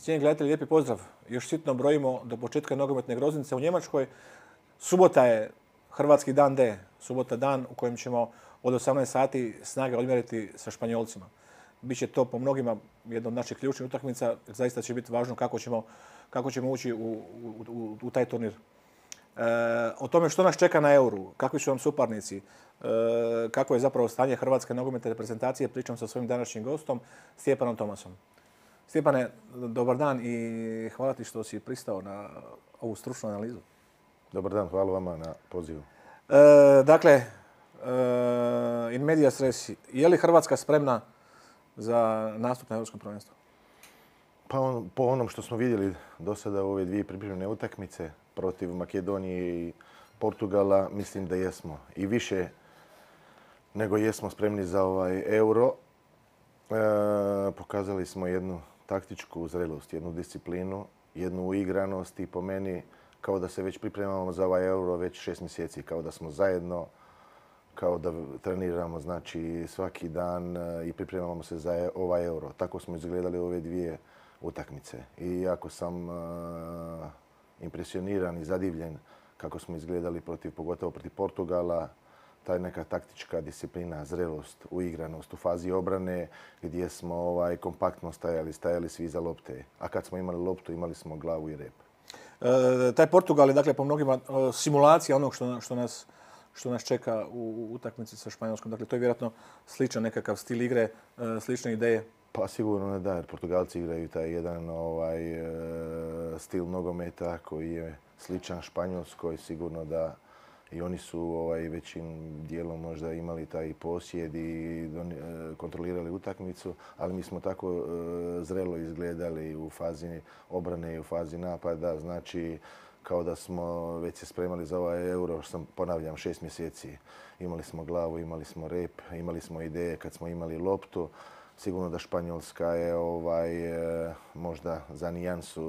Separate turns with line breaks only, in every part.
Cijenjeni gledatelji, lijepi pozdrav. Još sitno brojimo do početka nogometne groznice u Njemačkoj. Subota je hrvatski dan D. Subota dan u kojem ćemo od 18 sati snage odmjeriti sa Španjolcima. Biće to po mnogima jedna od naših ključnih utakmica. Zaista će biti važno kako ćemo ući u taj turnir. O tome što nas čeka na Euru, kakvi su nam suparnici, kako je zapravo stanje hrvatske nogometne reprezentacije, pričam sa svojim današnjim gostom, Stjepanom Tomasom. Stjepane, dobar dan i hvala ti što si pristao na ovu stručnu analizu.
Dobar dan, hvala vama na pozivu.
Dakle, in medias res, je li Hrvatska spremna za nastup na Europskom prvenstvu?
Pa po onom što smo vidjeli do sada u ove dvije pripremne utakmice protiv Makedonije i Portugala, mislim da jesmo. I više nego jesmo spremni za ovaj Euro. Pokazali smo jednu taktičku zrelost, jednu disciplinu, jednu uigranost i po meni kao da se već pripremamo za ovaj Euro već 6 mjeseci, kao da smo zajedno, kao da treniramo znači svaki dan i pripremamo se za ovaj Euro. Tako smo izgledali ove dvije utakmice i jako sam impresioniran i zadivljen kako smo izgledali pogotovo protiv Portugala. Ta neka taktička disciplina, zrelost, uigranost u fazi obrane gdje smo kompaktno stajali svi za lopte. A kad smo imali loptu, imali smo glavu i rep.
Taj Portugal je dakle po mnogima simulacija onog što nas čeka u utakmici sa Španjolskom. Dakle, to je vjerojatno sličan nekakav stil igre, slične ideje.
Pa sigurno ne da, jer Portugalci igraju taj jedan stil nogometa koji je sličan Španjolskoj. Sigurno da i oni su većim dijelom možda imali taj posjed i kontrolirali utakmicu, ali mi smo tako zrelo izgledali u fazi obrane i u fazi napada. Znači, kao da smo već se spremali za ovaj Euro, što ponavljam, 6 mjeseci. Imali smo glavu, imali smo rep, imali smo ideje kad smo imali loptu. Sigurno da Španjolska je možda za nijansu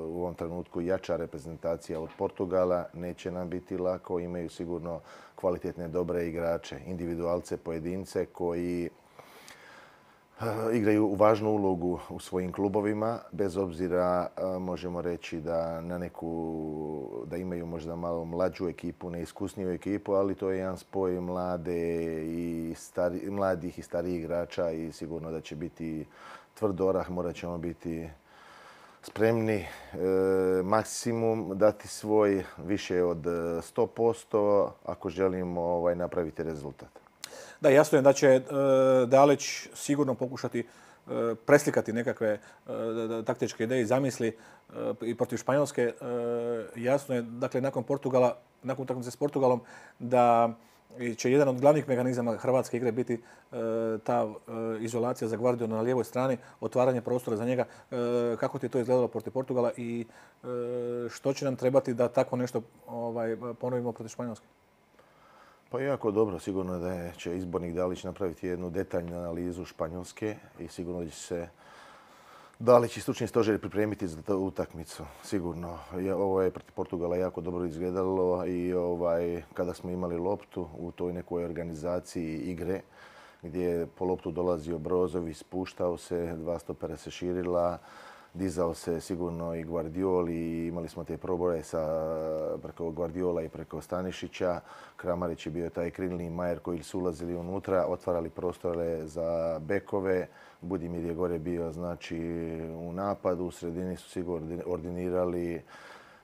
u ovom trenutku jača reprezentacija od Portugala. Neće nam biti lako, imaju sigurno kvalitetne, dobre igrače, individualce, pojedince koji igraju važnu ulogu u svojim klubovima, bez obzira možemo reći da imaju možda malo mlađu ekipu, neiskusniju ekipu, ali to je jedan spoj mladih i starijih igrača i sigurno da će biti tvrd orah, morat ćemo biti spremni maksimum dati svoj više od 100% ako želimo napraviti rezultat.
Da, jasno je da će Dalić sigurno pokušati preslikati nekakve taktičke ideje i zamisli i protiv Španjolske. Jasno je, dakle, nakon utakmice s Portugalom, da će jedan od glavnih mehanizama hrvatske igre biti ta izolacija za Guardiolu na lijevoj strani, otvaranje prostora za njega. Kako ti je to izgledalo protiv Portugala i što će nam trebati da tako nešto ponovimo protiv Španjolske?
Pa jako dobro, sigurno da će izbornik Dalić napraviti jednu detaljnu analizu Španjolske i sigurno da će se Dalić i stručni stožer pripremiti za tu utakmicu. Sigurno, ovo je protiv Portugala jako dobro izgledalo i kada smo imali loptu u toj nekoj organizaciji igre gdje je po loptu dolazio Brozović, spuštao se, dva stopera se širila, dizao se sigurno i Guardiol i imali smo te proboje preko Guardiola i preko Stanišića. Kramarić je bio taj krilni Majer koji su ulazili unutra, otvarali prostore za bekove. Budimir je gore bio znači u napadu, u sredini su sigurno ordinirali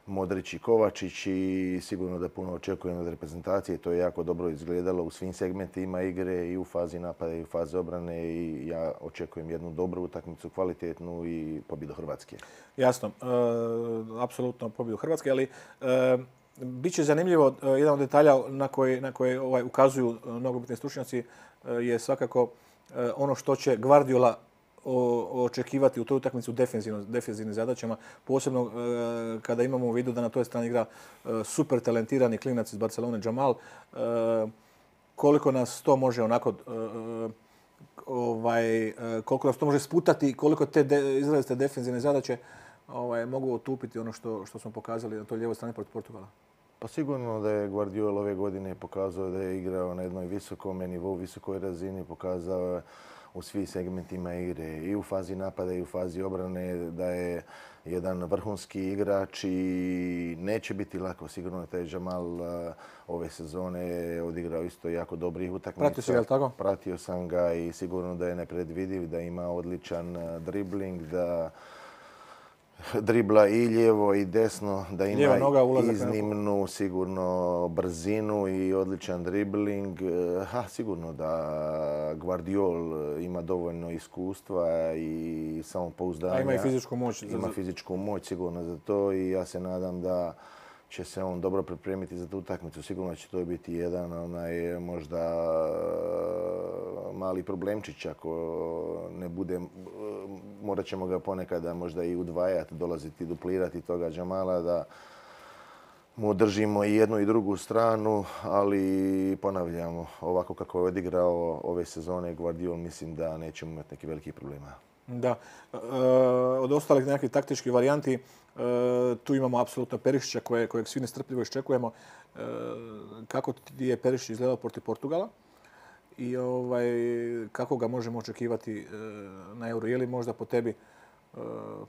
Modrić i Kovačić i sigurno da puno očekujem od reprezentacije. To je jako dobro izgledalo u svim segmentima igre i u fazi napada i u fazi obrane i ja očekujem jednu dobru utakmicu, kvalitetnu i pobjedu Hrvatske.
Jasno, apsolutno pobjedu Hrvatske, ali bit će zanimljivo, jedan od detalja na koje ukazuju nogometni stručnjaci je svakako ono što će Guardiola očekivati u toj utakmici u defenzivnim zadaćama, posebno kada imamo u vidu da na toj strani igra super talentirani klinac iz Barcelone Jamal. Koliko nas to može onako koliko nas to može sputati, koliko te izrazite defenzivne zadaće mogu otupiti ono što smo pokazali na toj lijevoj strani protiv Portugala.
Pa sigurno da je Guardiola ove godine pokazao da je igrao na jednoj visokom nivou, visokoj razini, pokazao u svim segmentima igre, i u fazi napada i u fazi obrane, da je jedan vrhunski igrač i neće biti lako. Sigurno taj Jamal ove sezone je odigrao isto jako dobrih utakmica.
Pratio si ga, tako?
Pratio sam ga i sigurno da je nepredvidiv, da ima odličan dribling, da dribla i lijevo i desno, da ima iznimnu sigurno brzinu i odličan dribling. Sigurno da Gvardiol ima dovoljno iskustva i samopouzdanja.
A ima i fizičku moć.
Ima fizičku moć sigurno za to i ja se nadam da će se on dobro pripremiti za tu utakmicu. Sigurno će to biti jedan možda mali problemčić ako ne bude, morat ćemo ga ponekada možda i udvajati, dolaziti, duplirati toga Jamala, da mu držimo i jednu i drugu stranu, ali ponavljamo, ovako kako je odigrao ove sezone Gvardiol, mislim da nećemo imati neki veliki problema.
Da. Od ostalih nekakvih taktičkih varijanti, tu imamo apsolutno Perišića kojeg svi nestrpljivo iščekujemo. Kako ti je Perišić izgledao protiv Portugala i kako ga možemo očekivati na Euro? Je li možda po tebi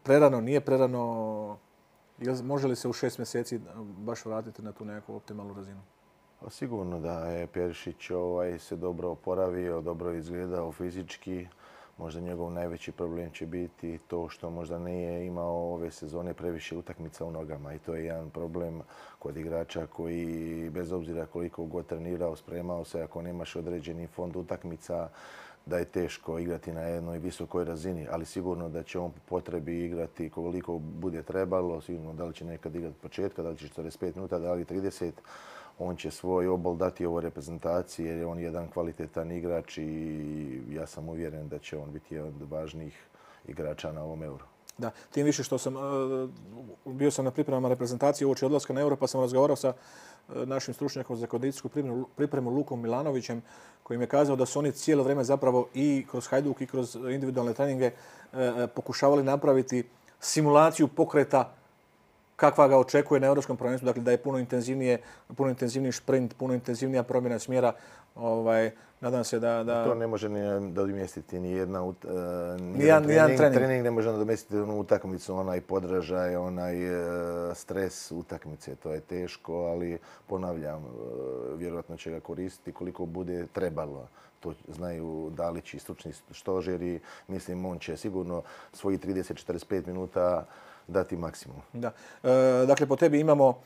prerano, nije prerano? Može li se u 6 mjeseci baš vratiti na tu nekakvu optimalnu razinu?
Sigurno da je Perišić se dobro oporavio, dobro izgledao fizički. Možda njegov najveći problem će biti to što možda nije imao ove sezone previše utakmica u nogama. I to je jedan problem kod igrača koji, bez obzira koliko god trenirao, spremao se, ako nemaš određeni fond utakmica, da je teško igrati na jednoj visokoj razini. Ali sigurno da će on po potrebi igrati koliko bude trebalo. Sigurno da li će nekad igrati od početka, da li će 45 minuta, da li 30. On će svoj obol dati ovoj reprezentaciji jer je on jedan kvalitetan igrač i ja sam uvjeren da će on biti jedan od važnijih igrača na ovom Euro.
Da, tim više što bio sam na pripremama reprezentacije uoči odlaska na Euro, pa sam razgovarao sa našim stručnjakom za kondicijsku pripremu Lukom Milanovićem, koji mi je kazao da su oni cijelo vrijeme zapravo i kroz Hajduk i kroz individualne treninge pokušavali napraviti simulaciju pokreta kakva ga očekuje na Europskom prvenstvu, dakle da je puno intenzivniji šprint, puno intenzivnija promjena smjera. Nadam se da...
To ne može ni nadomjestiti ni jedan trening ne može nadomjestiti onu utakmicu, onaj podražaj, onaj stres utakmice. To je teško, ali ponavljam, vjerojatno će ga koristiti koliko bude trebalo. To znaju Dalić i stručni stožeri. Mislim, on će sigurno svoji 30-45 minuta dati maksimum. Da.
Dakle, po tebi imamo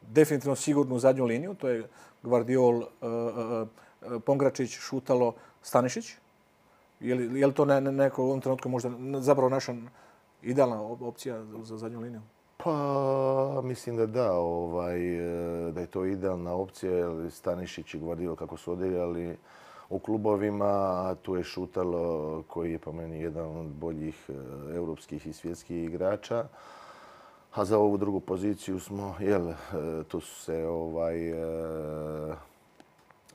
definitivno sigurnu zadnju liniju. To je Gvardiol, Pongračić, Šutalo, Stanišić. Je li to neko u ovom trenutku možda zapravo naša idealna opcija za zadnju liniju?
Pa, mislim da da. Da je to idealna opcija. Stanišić i Gvardiol kako su odigrali u klubovima, tu je Šutalo koji je po meni jedan od boljih europskih i svjetskih igrača. A za ovu drugu poziciju smo, tu su se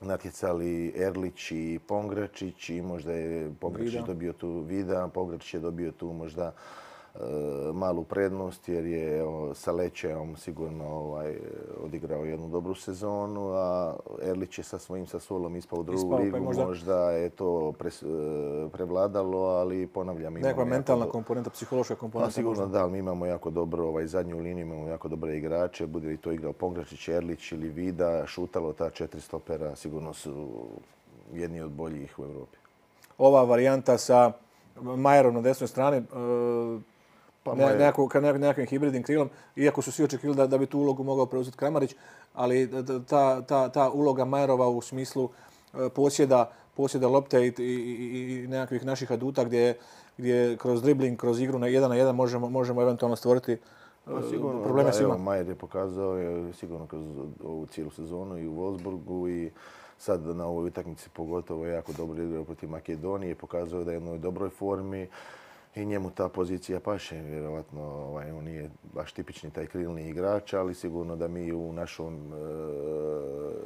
natjecali Erlić i Pongračić i možda je Pongračić dobio tu Vida, Pongračić je dobio tu možda malu prednost jer je sa Lećeom sigurno odigrao jednu dobru sezonu, a Erlić je sa svojim Sassuolom ispao u drugu ligu. Možda je to prevladalo, ali ponavljam...
Nekakva mentalna komponenta, psihološka komponenta?
Sigurno da, ali mi imamo jako dobro zadnju liniju, imamo jako dobre igrače. Bude li to igrao Pongračić, Erlić ili Vida, Šutalo, ta 4 stopera sigurno su jedni od boljih u Europi.
Ova varijanta sa Majerom na desnoj strani, nekakvim hibridnim krilom, iako su svi očekivali da bi tu ulogu mogao preuzeti Kramarić, ali ta uloga Majerova u smislu posjeda lopte i nekakvih naših aduta gdje kroz dribling, kroz igru na 1-1 možemo eventualno stvoriti probleme svima.
Majer je pokazao sigurno kroz ovu cijelu sezonu i u Wolfsburgu i sad na ovoj utakmici pogotovo jako dobro igrao protiv Makedonije, pokazao da je u jednoj dobroj formi. I njemu ta pozicija paše, vjerovatno on nije baš tipični taj krilni igrač, ali sigurno da mi u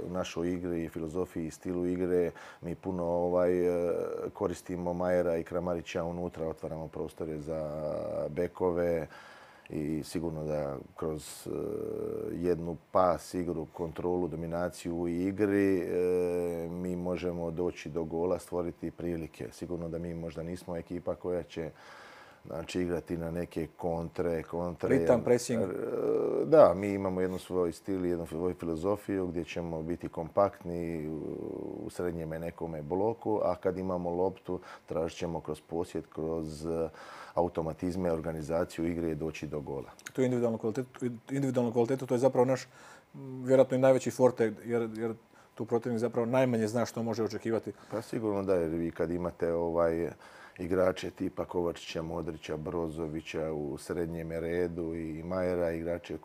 našoj igri i filozofiji i stilu igre mi puno koristimo Majera i Kramarića unutra, otvaramo prostore za bekove i sigurno da kroz jednu pas igru, kontrolu, dominaciju u igri mi možemo doći do gola, stvoriti prilike. Sigurno da mi možda nismo ekipa koja će igrati na neke kontre.
Ritam, pressing.
Da, mi imamo jednu svoj stil i jednu svoju filozofiju gdje ćemo biti kompaktni u srednjeme nekome bloku, a kad imamo loptu tražit ćemo kroz posjed, kroz automatizme, organizaciju igre i doći do gola.
Tu individualnu kvalitetu, to je zapravo naš vjerojatno i najveći forte, jer tu protivnik zapravo najmanje zna što može očekivati.
Pa sigurno da, jer vi kad imate igrače tipa Kovačića, Modrića, Brozovića u srednjem redu i Majera, igrače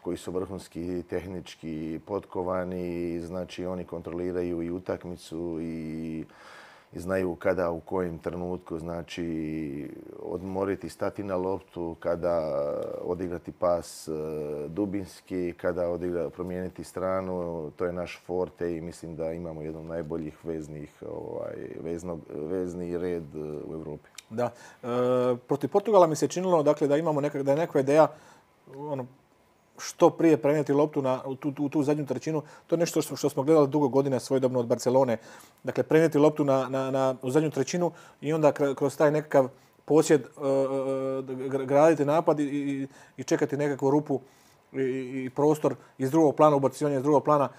koji su vrhunski tehnički potkovani, znači oni kontroliraju i utakmicu i znaju kada, u kojem trenutku, znači odmoriti, stati na loptu, kada odigrati pas dubinski, kada promijeniti stranu. To je naš forte i mislim da imamo jedan od najboljih vezni red u Europi.
Da. Protiv Portugala mi se činilo dakle, da imamo da je neka ideja što prije prenijeti loptu u tu zadnju trećinu. To je nešto što smo gledali dugo godina svojedobno od Barcelone. Dakle, prenijeti loptu u zadnju trećinu i onda kroz taj nekakav posjed graditi napad i čekati nekakvu rupu i prostor iz drugog plana, ubacivanje iz drugog plana.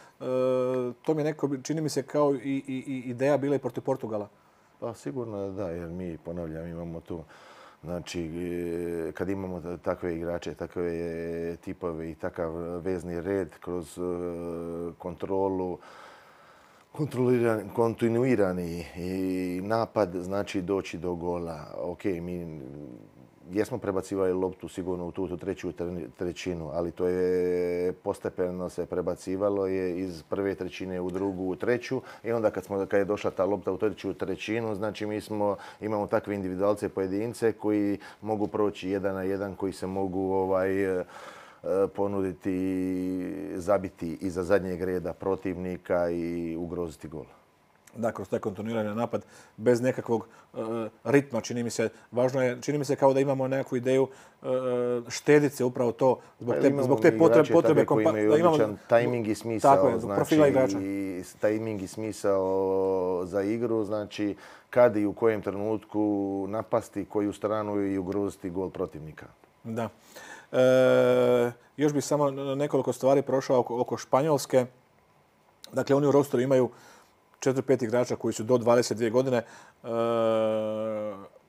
To mi je neko, čini mi se, kao i ideja bila i protiv Portugala.
Pa sigurno da, jer mi, ponavljam, imamo tu. Znači, kad imamo takve igrače, takve tipove i takav vezni red kroz kontrolu, kontinuirani i napad, znači doći do gola. Ok, mi jesmo prebacivali loptu sigurno u tu treću trećinu, ali to je postepeno se prebacivalo je iz prve trećine u drugu, u treću i onda kad je došla ta lopta u treću trećinu, znači mi imamo takve individualce, pojedince koji mogu proći 1 na 1, koji se mogu ponuditi, zabiti iza zadnjeg reda protivnika i ugroziti gol.
Da, kroz taj kontinuirani napad, bez nekakvog ritma, čini mi se. Važno je, čini mi se kao da imamo nekakvu ideju štedit se upravo to zbog te potrebe
koji imaju odličan tajming i smisao.
Tako je, zbog profila igrača.
Tajming i smisao za igru, znači kad i u kojem trenutku napasti koju stranu i ugroziti gol protivnika.
Da. Još bih samo nekoliko stvari prošao oko Španjolske. Dakle, oni u rosteru imaju 4-5 igrača koji su do 22 godine.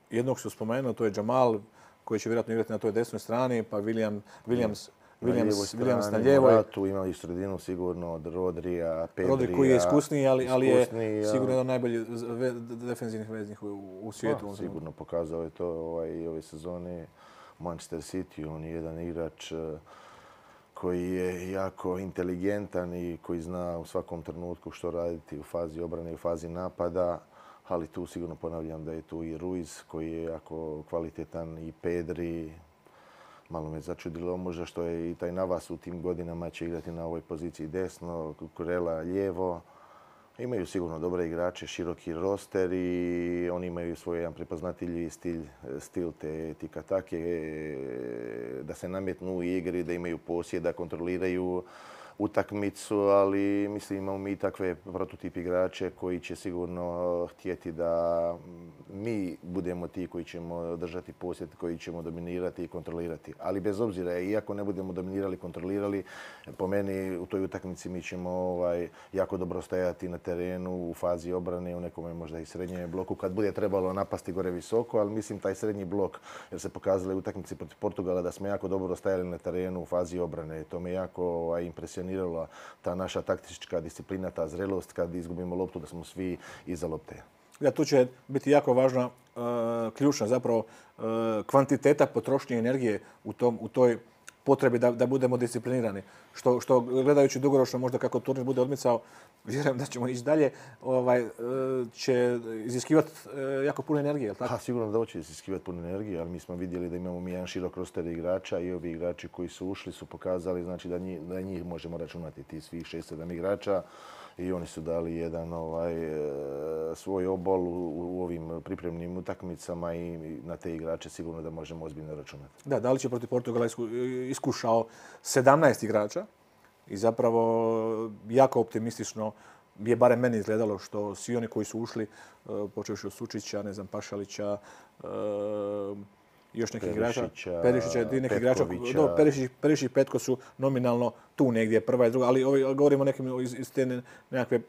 Jednog su spomenuo, to je Jamal, koji će vjerojatno igrati na toj desnoj strani, pa Williams na lijevoj.
Tu imali i sredinu sigurno od Rodrija, Pedrija.
Rodri koji je iskusniji, ali je sigurno jedan od najboljih defenzivnih veznih u svijetu.
Sigurno pokazao je to i ove sezone Manchester City. On je jedan igrač koji je jako inteligentan i koji zna u svakom trenutku što raditi u fazi obrane i u fazi napada. Ali tu sigurno ponavljam da je tu i Ruiz koji je jako kvalitetan i Pedri. Malo me začudilo možda što je i taj Navas u tim godinama će igrati na ovoj poziciji desno, Kurela lijevo. Imaju sigurno dobre igrače, široki roster i oni imaju svoj jedan prepoznatljivi stil te tiki-take, da se nametnu u igri, da imaju posjed, da kontroliraju utakmicu, ali mislim imamo mi takve prototip igrače koji će sigurno htjeti da mi budemo ti koji ćemo držati posjed, koji ćemo dominirati i kontrolirati. Ali bez obzira, iako ne budemo dominirali, kontrolirali, po meni u toj utakmici mi ćemo jako dobro stajati na terenu u fazi obrane, u nekome možda i srednjem bloku, kad bude trebalo napasti gore visoko, ali mislim taj srednji blok, jer se pokazali u utakmici protiv Portugala da smo jako dobro stajali na terenu u fazi obrane. To me jako impresioniralo, ta naša taktička disciplina, ta zrelost kad izgubimo loptu da smo svi iza lopte.
Da, tu će biti jako važna, ključna zapravo kvantiteta potrošnje energije u toj potrebi da budemo disciplinirani. Što gledajući dugoročno možda kako turnir bude odmicao, vjerujem da ćemo ići dalje, će iziskivati jako puno energije, jel tako?
Sigurno da će iziskivati puno energije, ali mi smo vidjeli da imamo jedan širok roster igrača i ovi igrači koji su ušli su pokazali znači da njih možemo računati, ti svih 6-7 igrača. i oni su dali jedan svoj obol u ovim pripremnim utakmicama i na te igrače sigurno da možemo ozbiljno računati.
Da, Dalić je protiv Portugala iskušao 17 igrača i zapravo jako optimistično je barem meni izgledalo što svi oni koji su ušli, počevši od Sučića, ne znam, Pašalića, još nekih igrača, Perišića, nekih igrača, Perišić i Petko su nominalno tu negdje, prva i druga, ali govorimo o nekim iz te nekakve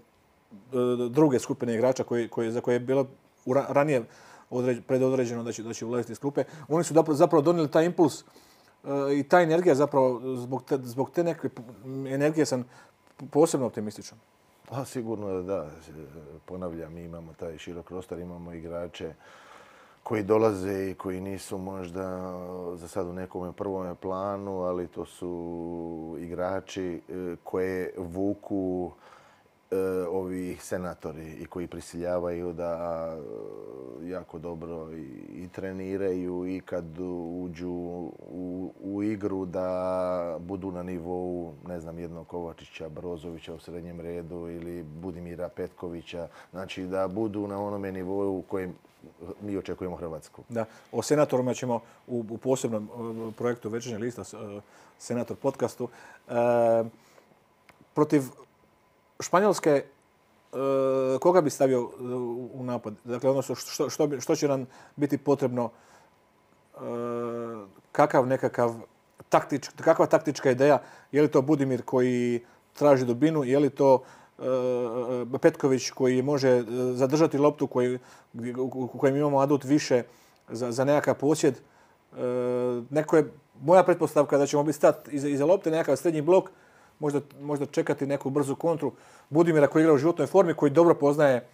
druge skupine igrača za koje je bilo ranije predodređeno da će ulaziti iz klupe. Oni su zapravo donijeli taj impuls i ta energija zapravo, zbog te neke energije sam posebno optimističan.
Pa sigurno da. Ponavljam, mi imamo taj širok prostor, imamo igrače koji dolaze i koji nisu možda za sad u nekom prvom planu, ali to su igrači koje vuku ovi senatori i koji prisiljavaju da jako dobro i treniraju i kad uđu u igru da budu na nivou, ne znam, jednog Kovačića, Brozovića u srednjem redu ili Budimira Petkovića. Znači da budu na onome nivou u kojem mi očekujemo Hrvatsku.
Da, o senatorima ćemo u posebnom projektu Večernjeg lista, Senator podcastu. Protiv Španjolske, koga bi stavio u napad? Dakle, ono što će nam biti potrebno, kakva taktička ideja? Je li to Budimir koji traži dubinu? Je li to Petković koji može zadržati loptu, u kojem imamo adut više za nekakav posjed? Moja pretpostavka da ćemo biti stati iza lopte, nekakav srednji blok, možda čekati neku brzu kontru. Budimira koji igra u životnoj formi, koji dobro poznaje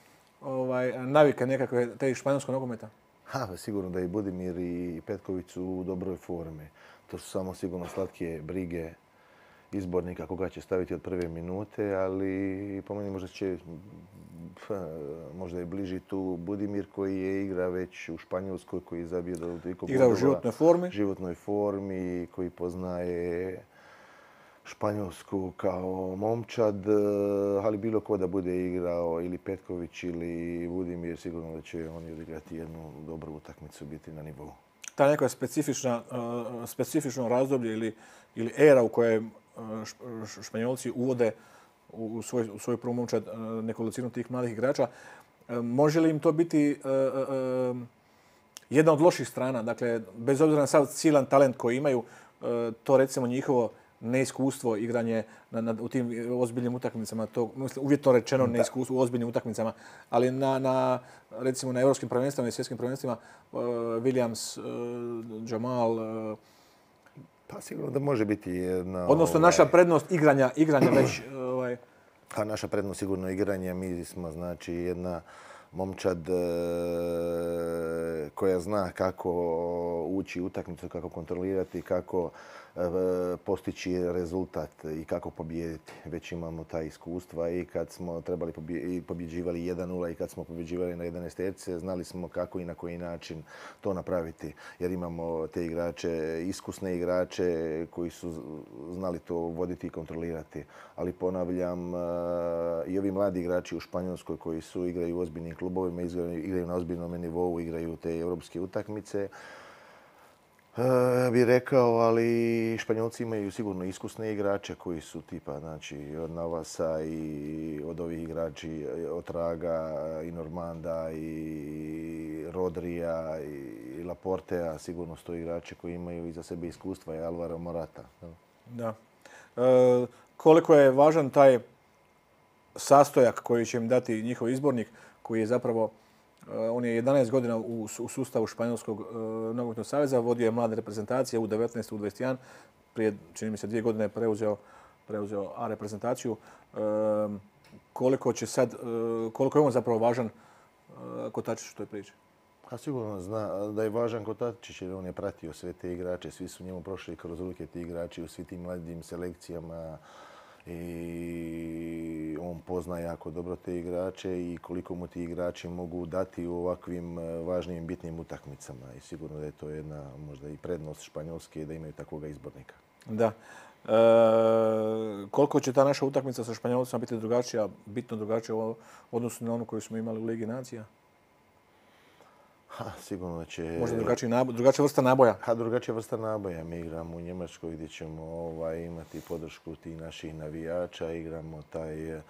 navike nekakve te španjolskog nogometa.
Sigurno da i Budimir i Petković su u dobroj formi. To su samo sigurno slatke brige izbornika koga će staviti od prve minute, ali po meni možda je bliži tu Budimir koji je igra već u Španjolskoj, koji je zabio do toliko bodova.
Igra u
životnoj formi, koji poznaje Španjolsku kao momčad, ali bilo ko da bude igrao ili Petković ili Budimir, sigurno da će oni odigrati jednu dobru utakmicu, biti na nivou.
Ta neka specifično razdoblje ili era u kojoj Španjolci uvode u svoj prvu momčad nekolicinu tih mladih igrača, može li im to biti jedna od loših strana? Dakle, bez obzira na sav silan talent koji imaju, to recimo njihovo neiskustvo igranje u tim ozbiljnim utakmicama, to uvjetno rečeno neiskustvo u ozbiljnim utakmicama, ali recimo na europskim prvenstvima i svjetskim prvenstvima Williams, Jamal.
Pa sigurno da može biti jedna...
Odnosno naša prednost igranja već...
Pa naša prednost sigurno igranja, mi smo znači jedna momčad koja zna kako ući u utakmicu, kako kontrolirati, kako postići rezultat i kako pobijediti. Već imamo ta iskustva i kad smo trebali pobjeđivali 1-0 i kad smo pobjeđivali na 11 terce, znali smo kako i na koji način to napraviti. Jer imamo te igrače, iskusne igrače koji su znali to voditi i kontrolirati. Ali ponavljam, i ovi mladi igrači u Španjolskoj koji igraju u ozbiljnim klubovima, igraju na ozbiljnom nivou, igraju te europske utakmice, bih rekao, ali Španjolci imaju sigurno iskusne igrače koji su tipa, znači, od Navasa i od ovih igrači, od Traga i Normanda i Rodrija i Laportea, sigurno su to igrači koji imaju iza sebe iskustva, i Alvaro Morata.
Da. Koliko je važan taj sastojak koji će im dati njihov izbornik, koji je zapravo, on je 11 godina u sustavu Španjolskog nogometnog saveza, vodio je mlade reprezentacije U19, U21, prije, čini mi se, 2 godine je preuzeo A reprezentaciju. Koliko je on zapravo važan kotačić u toj priči?
A sigurno zna da je važan kotačić jer on je pratio sve te igrače, svi su njemu prošli kroz ruke ti igrači u svim tim mladim selekcijama i on pozna jako dobro te igrače i koliko mu ti igrači mogu dati u ovakvim važnim i bitnim utakmicama. I sigurno da je to jedna možda i prednost Španjolske da imaju takvoga izbornika.
Da. Koliko će ta naša utakmica sa Španjolcima biti drugačija, bitno drugačija u odnosu na onu koju smo imali u Ligi nacija?
Sigurno da će...
Možda drugačija vrsta naboja?
Drugačija vrsta naboja. Mi igramo u Njemačkoj gdje ćemo imati podršku tih naših navijača. Igramo taj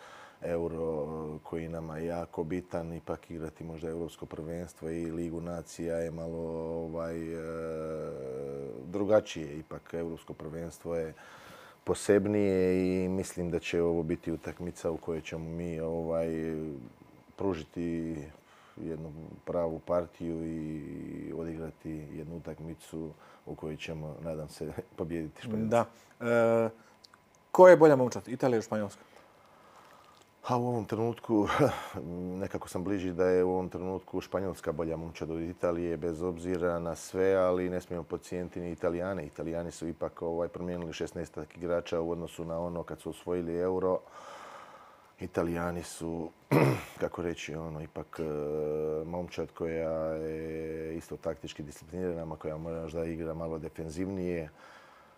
Euro koji nama je jako bitan. Ipak igrati možda Europsko prvenstvo i Ligu nacija je malo drugačije. Ipak Europsko prvenstvo je posebnije i mislim da će ovo biti utakmica u kojoj ćemo mi pružiti jednu pravu partiju i odigrati jednu utakmicu u kojoj ćemo, nadam se, pobijediti Španjolce.
Da. Ko je bolja momčad, Italija ili Španjolska?
U ovom trenutku, nekako sam bliži da je u ovom trenutku Španjolska bolja momčad od Italije, bez obzira na sve, ali ne smijemo podcijeniti ni Italijane. Italijani su ipak promijenili 16 igrača u odnosu na ono kad su osvojili Euro. Italijani su, kako reći, ipak momčad koja je isto taktički disciplinirana, koja možda igra malo defenzivnije,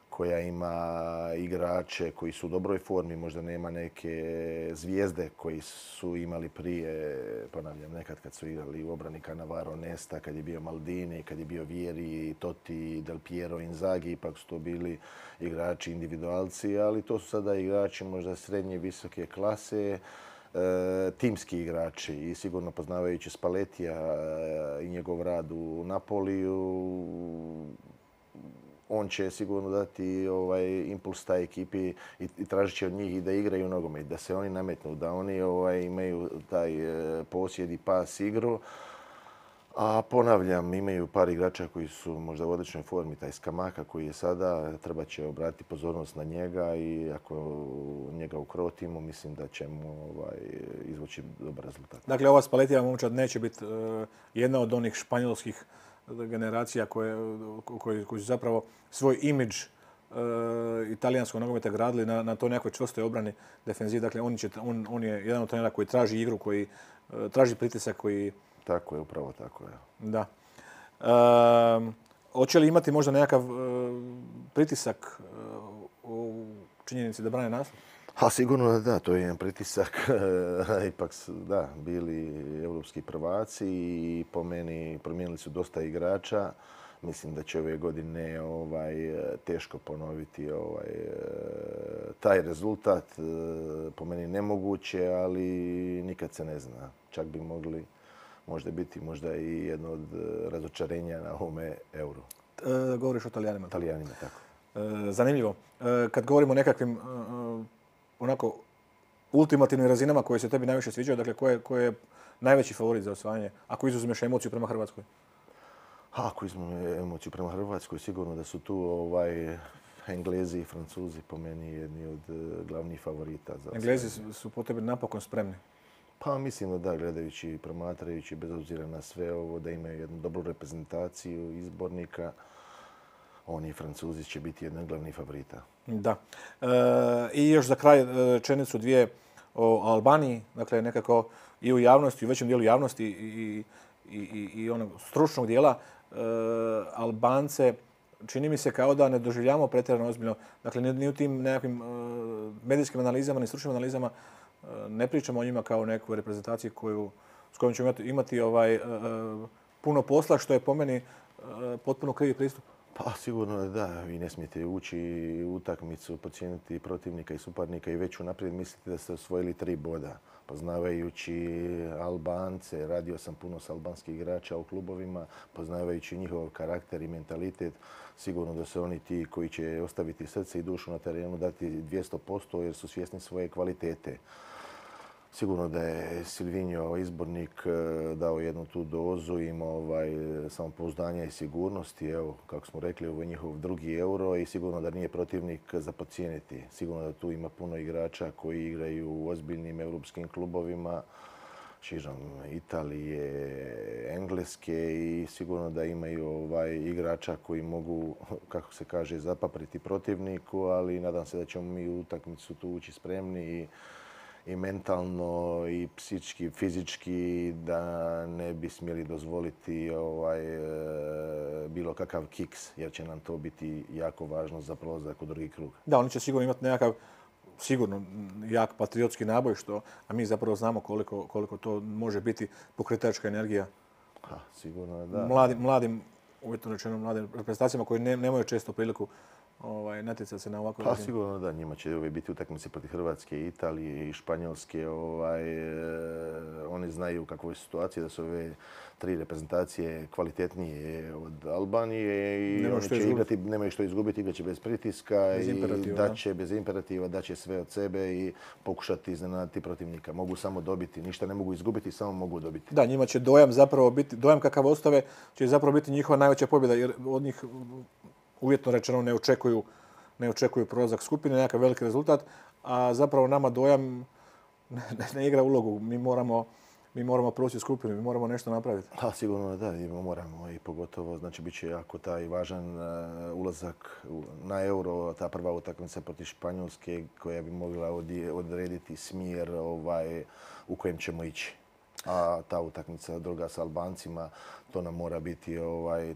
koja ima igrače koji su u dobroj formi, možda nema neke zvijezde koji su imali prije, ponavljam, nekad kad su igrali u obrani Cannavaro, Nesta, kad je bio Maldini, kad je bio Vieri, Totti, Del Piero, Inzaghi, ipak su to bili igrači individualci, ali to su sada igrači možda srednje, visoke klase, timski igrači i sigurno poznavajući Spallettija i njegov rad u Napoliju, on će sigurno dati impuls taj ekipi i tražit će od njih i da igraju nogomet, da se oni nametnu, da oni imaju taj posjed i pas igru. A ponavljam, imaju par igrača koji su možda u odličnoj formi. Taj Scamacca koji je sada, treba će obratiti pozornost na njega i ako njega ukrotimo, mislim da ćemo izvući dobar rezultat.
Dakle, ova Spallettijeva momčad neće biti jedna od onih španjolskih generacija koji su zapravo svoj imidž italijanskog nogometa gradili na toj nekoj čvrstoj obrani defenzivi. Dakle, on je jedan od trenera koji traži igru, koji traži pritisak, koji...
Tako je, upravo tako je.
Da. Hoće li imati možda nekakav pritisak u činjenici da brane naslov?
Sigurno da, to je jedan pritisak. Ipak su, bili europski prvaci i po meni promijenili su dosta igrača. Mislim da će ove godine teško ponoviti taj rezultat. Po meni nemoguće, ali nikad se ne zna. Čak bi mogli možda biti i jedno od razočarenja na ovome Euru.
Govoriš o Talijanima.
Talijanima, tako.
Zanimljivo. Kad govorimo o nekakvim onako ultimativnim razinama koje se tebi najviše sviđaju, dakle ko je najveći favorit za osvajanje, ako izuzmeš emociju prema Hrvatskoj?
Ako izuzmem emociju prema Hrvatskoj, sigurno da su tu Englezi i Francuzi po meni jedni od glavnih favorita.
Englezi su po tebi napokon spremni?
Mislim da, gledajući i promatrajući, bez obzira na sve ovo, da imaju jednu dobru reprezentaciju izbornika. Oni i Francuzi će biti jedan od glavnih favorita.
Da. I još za kraj rečenicu dvije o Albaniji. Dakle, nekako i u javnosti, u većem dijelu javnosti i onog stručnog dijela Albance čini mi se kao da ne doživljavamo pretjerano ozbiljno. Dakle, ni u tim nekakvim medijskim analizama, ni stručnim analizama ne pričamo o njima kao nekoj reprezentaciji s kojom ćemo imati puno posla, što je po meni potpuno krivi pristup.
Sigurno da. Vi ne smijete ući u utakmicu, podcijeniti protivnika i suparnika i već unaprijed mislite da ste osvojili 3 boda. Poznavajući Albance, radio sam puno s albanskih igrača u klubovima, poznavajući njihov karakter i mentalitet, sigurno da su oni ti koji će ostaviti srce i dušu na terenu, dati 200% jer su svjesni svoje kvalitete. Sigurno da je Silvinho izbornik dao jednu tu dozu, imao samopouzdanja i sigurnosti. Evo, kako smo rekli, ovo je njihov drugi Euro i sigurno da nije protivnik za podcijeniti. Sigurno da tu ima puno igrača koji igraju u ozbiljnim europskim klubovima, širom Italije, Engleske i sigurno da imaju igrača koji mogu, kako se kaže, zapapriti protivniku, ali nadam se da ćemo mi u utakmicu tu ući spremni i mentalno i psički, fizički da ne bi smjeli dozvoliti bilo kakav kiks, jer će nam to biti jako važno za prolazak u drugi krug.
Da, oni će sigurno imati nekakav sigurno jak patriotski naboj, a mi zapravo znamo koliko to može biti pokretačka energija.
Sigurno da.
Mladim, uvjetno rečeno, mladim reprezentacijama koji nemaju često priliku natjecati se na ovakvu razinu.
Sigurno da, njima će biti utakmice protiv Hrvatske, Italije i Španjolske. Oni znaju u kakvoj situaciji, da su ove 3 reprezentacije kvalitetnije od Albanije i oni će igrati, nemaju što izgubiti, igrat će bez pritiska i daće bez imperativa, daće sve od sebe i pokušati iznenaditi protivnika. Mogu samo dobiti, ništa ne mogu izgubiti, samo mogu dobiti.
Da, njima će dojam kakav ostave će zapravo biti njihova najveća pobjeda, jer od njih uvjetno rečeno ne očekuju prolazak skupine, nekakav veliki rezultat, a zapravo nama dojam ne igra ulogu. Mi moramo proći skupinu, mi moramo nešto napraviti.
Sigurno da, moramo i pogotovo, znači bit će jako taj važan ulazak na Euro, ta prva utakmica protiv Španjolske koja bi mogla odrediti smjer u kojem ćemo ići. A ta utakmica druga s Albancima, to nam mora biti,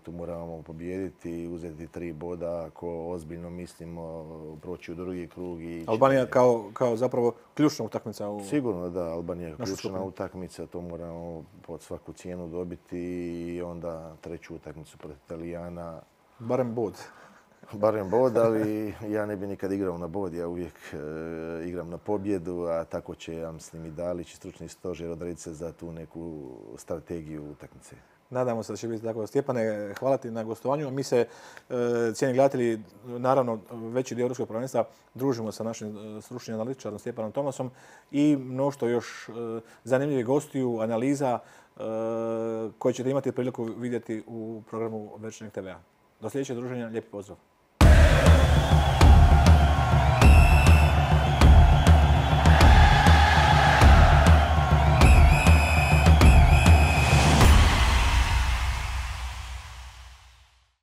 tu moramo pobijediti, uzeti 3 boda ako ozbiljno mislimo proći u drugi krug.
Albanija kao zapravo ključna utakmica.
Sigurno da, Albanija je ključna utakmica, to moramo pod svaku cijenu dobiti i onda 3. utakmicu protiv Italijana.
Barem bod.
Barem bod, ali ja ne bi nikad igrao na bod, ja uvijek igram na pobjedu, a tako će, ja mislim, i Dalić i stručni stožer odrediti se za tu neku strategiju utakmice.
Nadamo se da će biti tako. Stjepane, hvala ti na gostovanju. Mi se, cijeni gledatelji, naravno veći dio Europskog prvenstva, družimo sa našim stručnim analitičarom Stjepanom Tomasom i mnoštvo još zanimljivih gostiju, analiza koje ćete imati priliku vidjeti u programu Večernjeg TV-a. Do sljedećeg druženja, lijepi pozdrav.